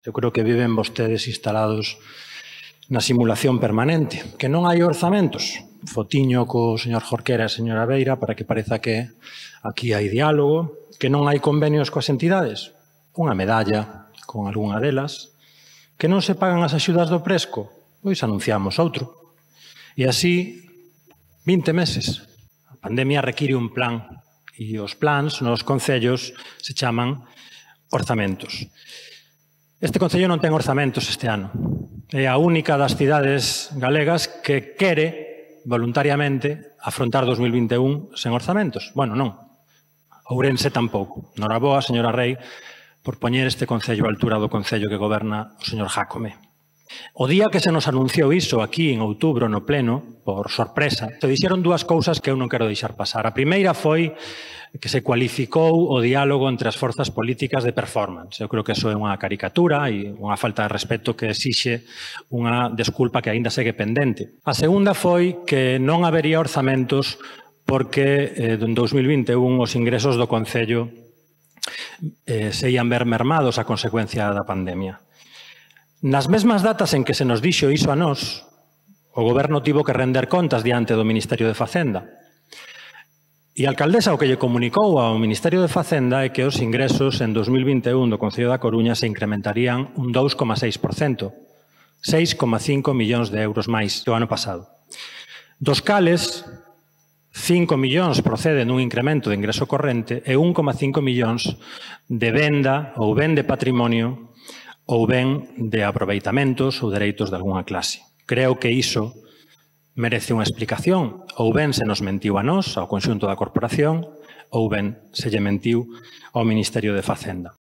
Eu creo que viven vostedes instalados na simulación permanente, que non hai orzamentos. Fotiño co señor Jorquera e a señora Beira para que pareza que aquí hai diálogo, que non hai convenios coas entidades. Unha medalla con algunha delas. Que non se pagan as axudas do Presco? Pois anunciamos outro. E así, 20 meses. A pandemia require un plan e os plans nos concellos se chaman orzamentos. Este concello non ten orzamentos este ano. É a única das cidades galegas que quere voluntariamente afrontar 2021 sen orzamentos. Bueno, non. Ourense tampouco. Noraboa, señora Rei, por poñer este concello á altura do concello que goberna o señor Jácome. O día que se nos anunciou iso aquí en outubro no pleno, por sorpresa, se dixeron dúas cousas que eu non quero deixar pasar. A primeira foi que se cualificou o diálogo entre as forzas políticas de performance. Eu creo que iso é unha caricatura e unha falta de respeto que exixe unha desculpa que aínda segue pendente. A segunda foi que non habería orzamentos porque en 2021 os ingresos do Concello se ian ver mermados a consecuencia da pandemia. Nas mesmas datas en que se nos dixo iso a nós, o Goberno tivo que render contas diante do Ministerio de Facenda. E a alcaldesa o que lle comunicou ao Ministerio de Facenda é que os ingresos en 2021 do Concello da Coruña se incrementarían un 2,6%, 6,5 millóns de euros máis que o ano pasado. Dos cales, 5 millóns proceden dun incremento de ingreso corrente e 1,5 millóns de venda ou ben de patrimonio ou ben de aproveitamentos ou dereitos de algunha clase. Creo que iso merece unha explicación. Ou ben se nos mentiu a nós, ao conxunto da corporación, ou ben se lle mentiu ao Ministerio de Facenda.